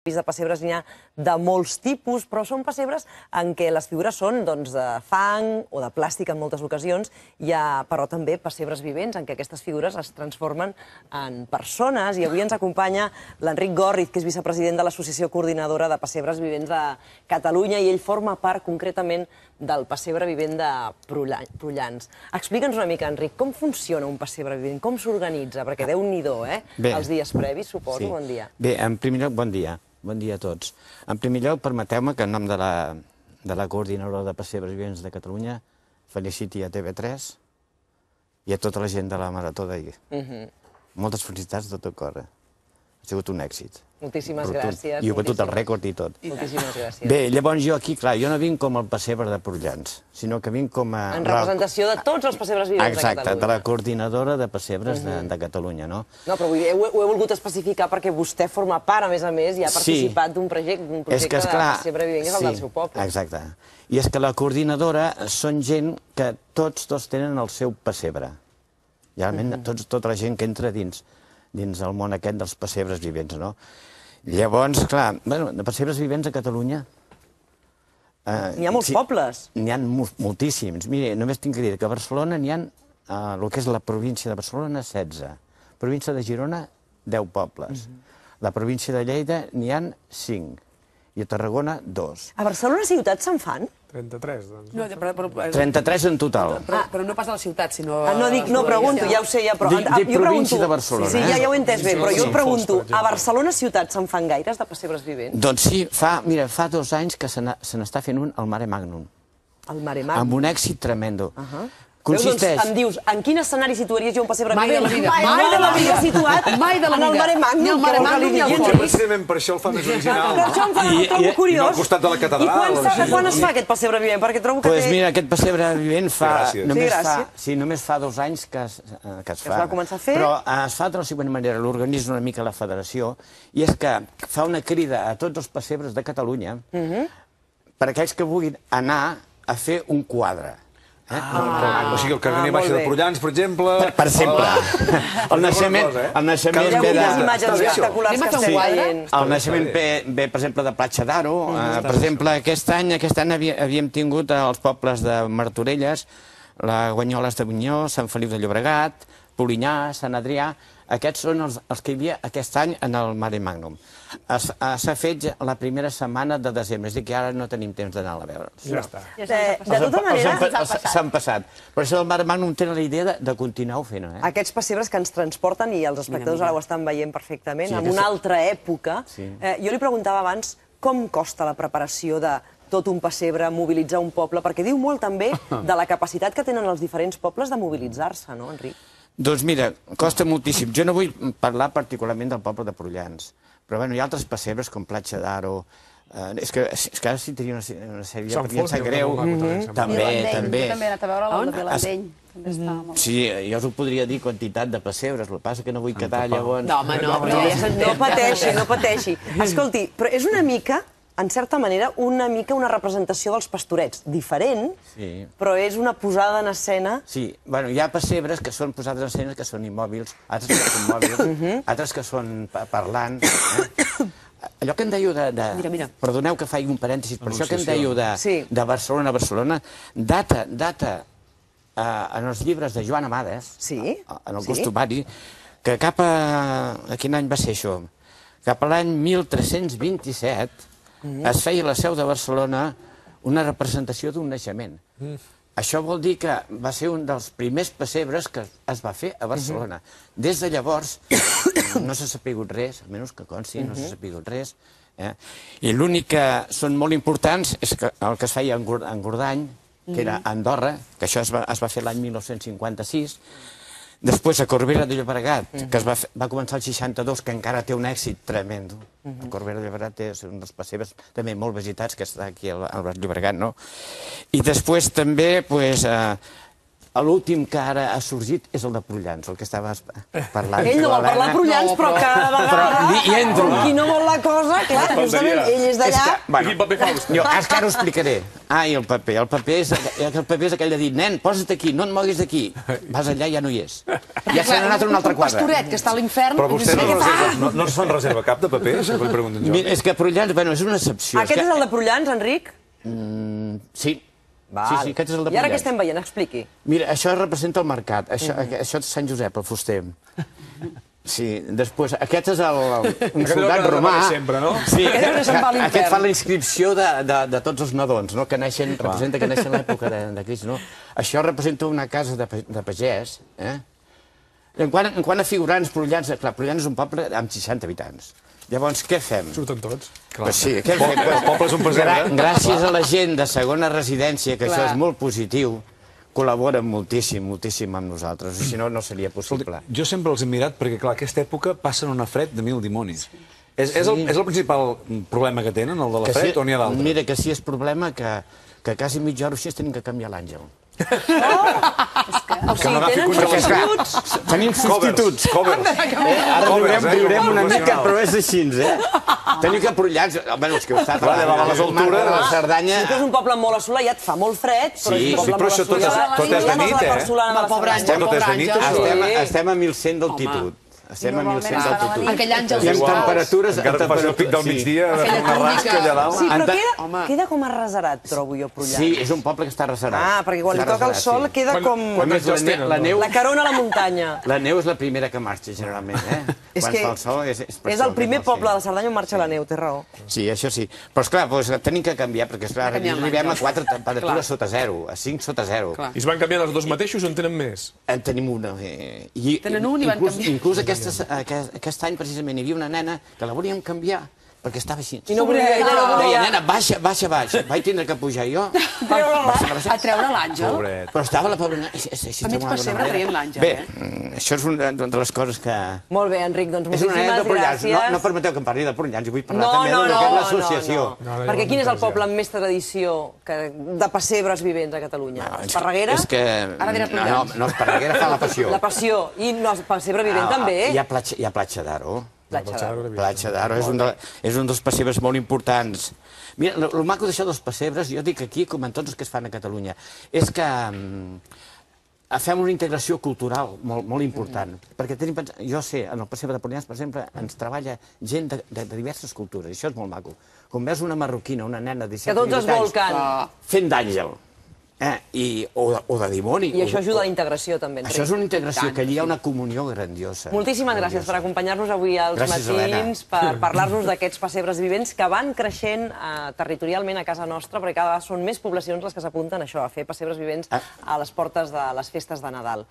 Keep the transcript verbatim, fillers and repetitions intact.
de pessebres n'hi ha de molts tipus, però són pessebres en què les figures són doncs, de fang o de plàstic en moltes ocasions. Hi ha, però, també pessebres vivents en què aquestes figures es transformen en persones. I avui ens acompanya l'Enric Gòrriz, que és vicepresident de l'Associació Coordinadora de Pessebres Vivents de Catalunya, i ell forma part, concretament, del pessebre vivent de Prullans. Explica'ns una mica, Enric, com funciona un pessebre vivent, com s'organitza? Perquè Déu-n'hi-do, eh? Els dies previs, suposo. Bon dia. Bé, en primer lloc, bon dia. Bon dia a tots. En primer lloc, permeteu-me que en nom de la, de la Coordinadora de Pessebres Vivents de Catalunya feliciti a T V tres i a tota la gent de la Marató d'ahir. Uh-huh. Moltes felicitats de tot cor. Ha sigut un èxit. Moltíssimes gràcies. I ho he batut el rècord i tot. Moltíssimes gràcies. Bé, llavors jo aquí, clar, jo no vinc com el pessebre de Prullans, sinó que vinc com a... En representació de tots els pessebres vivents de Catalunya. Exacte, de la Coordinadora de Pessebres de Catalunya, no? No, però vull dir, ho he volgut especificar perquè vostè forma part, a més a més, i ha participat d'un projecte de pessebre vivent, que és el del seu poble. Exacte. I és que la coordinadora són gent que tots dos tenen el seu pessebre. Realment, tota la gent que entra dins dins el món aquest dels pessebres vivents, no? Llavors, clar, bueno, de pessebres vivents a Catalunya... N'hi ha molts pobles. N'hi ha moltíssims. Mira, només tinc que dir que a Barcelona n'hi ha, el que és la província de Barcelona, setze. Província de Girona, deu pobles. La província de Lleida n'hi ha cinc. I a Tarragona, dos. A Barcelona ciutat se'n fan? trenta-tres, doncs. trenta-tres en total. Però no pas a la ciutat, sinó... No, dic, no pregunto, ja ho sé, ja, però... Dic província de Barcelona. Sí, ja ho he entès bé, però jo em pregunto, a Barcelona ciutat se'n fan gaires de pessebres vivents? Doncs sí, fa, mira, fa dos anys que se n'està fent un al Mare Magnum. Al Mare Magnum. Amb un èxit tremendo. Consisteix... Doncs em dius, en quin escenari situaries jo un pessebre Mai de la vida. Mai de la vida situat en el Mare Magnum. Ni el Mare Magnum ni el Potser precisament per això el fa més original. Per això em fa, ho trobo curiós. I no al costat de la catedral. I quan es fa aquest pessebre vivent? Perquè trobo que té... Doncs mira, aquest pessebre vivent fa... Gràcies. Sí, només fa dos anys que es fa. Es va començar a fer. Però es fa de la següent manera, l'organitza una mica la federació, i és que fa una crida a tots els pessebres de Catalunya per aquells que vulguin anar a fer un quadre. O sigui, el Carner Baixa de Prullans, per exemple... Per exemple. El naixement ve de... imatges espectaculars que estem veient. El naixement ve, per exemple, de Platja d'Aro. Per exemple, aquest any aquest any havíem tingut els pobles de Martorelles, la Guanyoles de Bunyó, Sant Feliu de Llobregat, Polinyà, Sant Adrià. Aquests són els que hi havia aquest any en el Mare Magnum. S'ha fet la primera setmana de desembre, és a dir que ara no tenim temps d'anar a veure'ls. Ja està. De tota manera... S'han passat. Per això el Mare Magnum té la idea de continuar-ho fent. Aquests pessebres que ens transporten, i els espectadors ara ho estan veient perfectament, en una altra època. Jo li preguntava abans com costa la preparació de tot un pessebre, mobilitzar un poble, perquè diu molt també de la capacitat que tenen els diferents pobles de mobilitzar-se, no, Enric? Doncs mira, costa moltíssim. Jo no vull parlar particularment del poble de Prullans, però hi ha altres pessebres com Platja d'Aro. És que ara sí tenia una sèrie, perquè em sap greu. També, també. Jo també he anat a veure el de Vilandeny. Sí, jo us ho podria dir quantitat de pessebres, el que passa que no vull quedar llavors... No, home, no. No pateixi, no pateixi. Escolti, però és una mica... en certa manera, una mica una representació dels pastorets. Diferent, però és una posada en escena... Sí, bueno, hi ha pessebres que són posades en escena que són immòbils, altres que són mòbils, altres que són parlants. Allò que em dèieu de... Perdoneu que faci un parèntesis, però això que em dèieu de Barcelona a Barcelona, data, data en els llibres de Joan Amades, en el costumari, que cap a... Quin any va ser això? Cap a l'any mil tres-cents vint-i-set es feia a la seu de Barcelona una representació d'un naixement. Això vol dir que va ser un dels primers pessebres que es va fer a Barcelona. Des de llavors no s'ha sapigut res, almenys que consti, no s'ha sapigut res. I l'únic que són molt importants és el que es feia en Gordany, que era a Andorra, que això es va fer l'any mil nou-cents cinquanta-sis. Després, a Corbera de Llobregat, que va començar el seixanta-dos, que encara té un èxit tremendo. A Corbera de Llobregat és un dels pessebres també molt visitats, que està aquí al Llobregat, no? I després també, l'últim que ara ha sorgit és el de Prullans, el que estaves parlant. Ell no vol parlar de Prullans, però cada vegada... Hi entro. Com qui no vol la cosa, clar, justament, ell és d'allà... Bueno, jo, és que ara ho explicaré. Ah, i el paper. El paper és, el paper és aquell de dir, nen, posa't aquí, no et moguis d'aquí. Vas allà i ja no hi és. Ja se n'ha anat a un altre quadre. Un pastoret que està a l'infern... Però vostè no, reserva, no, no es fan reserva cap de paper? Si li pregunten jo. Mira, és que Prullans, bueno, és una excepció. Aquest és el de Prullans, Enric? Mm, sí. Val. Sí, sí, aquest és el de I ara què Prullans. estem veient? Expliqui. Mira, això representa el mercat. Això, això és Sant Josep, el fuster. Sí, després, aquest és el, un soldat romà. Sempre, no? Sí, Aquest és se'n va a l'infern. aquest fa la inscripció de, de, de tots els nadons, no? Que neixen, representa que neixen a l'època de, de Crist, no? Això representa una casa de, pa- de pagès, eh? En quant, en quant a figurants, Prullans, clar, Prullans és un poble amb seixanta habitants. Llavors, què fem? Surten tots. Pues sí, què fem? El poble és un pesat, Gra eh? Gràcies a la gent de segona residència, que Clar. això és molt positiu, col·laboren moltíssim, moltíssim amb nosaltres, si no, no seria possible. Jo sempre els he mirat perquè, clar, aquesta època passen una fred de mil dimonis. És, és, el, és el principal problema que tenen, el de la Que fred, si- o n'hi ha d'altres? Mira, que sí és problema que, que quasi mitja hora o així tenim que canviar l'àngel. O sigui, n'agafi tenen congelació. substituts? Tenim substituts. Covers. Eh? Ara Covers, viurem, eh, viurem com una mica, professionals. però és així, eh? Tenim que Prullans... Bueno, és que heu estat Clar, a a les altures. de la Cerdanya... Sí que és un poble molt assolellat, fa molt fred, però Sí, és un sí, poble però molt això tot és- assolellat. tot és de I nit, la eh? Barcelona de La pobra Cerdanya. Àngel, Tot és pobre de nit, Àngel. això. Estem, Sí. estem a mil cent d'altitud. Estem a mil cent d'altitud. Aquell àngel I amb visual. temperatures... Encara que faci el pic del sí. migdia, ha de fer Aquella una rasca túnica. allà dalt. Sí, però Anta- queda, Home. queda com arrasarat, trobo jo, Prullans. Sí, és un poble que està arrasarat. Ah, perquè quan li Està toca el arrasarat, sol sí. queda Quan- com... A quan- més, la, ne la neu... La carona a la muntanya. La neu és la primera que marxa, generalment, eh? És Quan que fa el sol és, és per és això el que primer no, poble sí. de la Cerdanya on marxa la neu, té raó. Sí, això sí. Però, esclar, doncs, tenim que canviar, perquè, esclar, Canviar arribem a l'àngel. quatre temperatures Clar. sota zero, a cinc sota zero. Clar. I es van canviant els dos mateixos o en tenen més? En tenim una. Eh, i, Tenen un i van inclús, canviar. Inclús aquest, aquest, aquest any, precisament, hi havia una nena que la volíem canviar perquè estava així. I no volia, ella no Deia, volia. nena, baixa, baixa, baixa. Vaig tindre que pujar jo. A treure l'àngel. Pobret. Però estava la pobra nena... així- així A mig d'una pessebre manera. traient l'àngel, Bé, eh? mm, això és una de les coses que... Molt bé, Enric, doncs És una moltíssimes anècdota de Prullans. gràcies. No, no permeteu que em parli de Prullans, i vull parlar No, també no, del no, que és no, l'associació. no. No, no, Perquè no, quin és el no, poble amb més tradició que, de pessebres vivents a Catalunya? Esparreguera? És que... Ara dirà no, Prullans. no, Esparreguera fa la passió. La passió. I no, el pessebre vivent Ah, també. Hi ha platja, hi ha platja d'Aro. Platja d'Aro. Platja d'Aro és, un de, és un dels pessebres molt importants. Mira, el, el maco d'això dels pessebres, jo dic aquí, com en tots els que es fan a Catalunya, és que mm, fem una integració cultural molt, molt important. Perquè tenim, pens- jo sé, en el pessebre de Prullans, per exemple, ens treballa gent de, de, de diverses cultures, i això és molt maco. Quan veus una marroquina, una nena de Que disset tots es divuit anys, volquen. fent d'àngel, eh? I, o, de, o de dimoni. I o- això ajuda a o- la integració, també, Enric. Això és una integració, que allí hi ha una comunió grandiosa. Moltíssimes gràcies per acompanyar-nos avui als Gràcies, matins, per parlar-nos d'aquests pessebres vivents que van creixent eh, territorialment a casa nostra, perquè cada vegada són més poblacions les que s'apunten a això, a fer pessebres vivents Ah. a les portes de les festes de Nadal.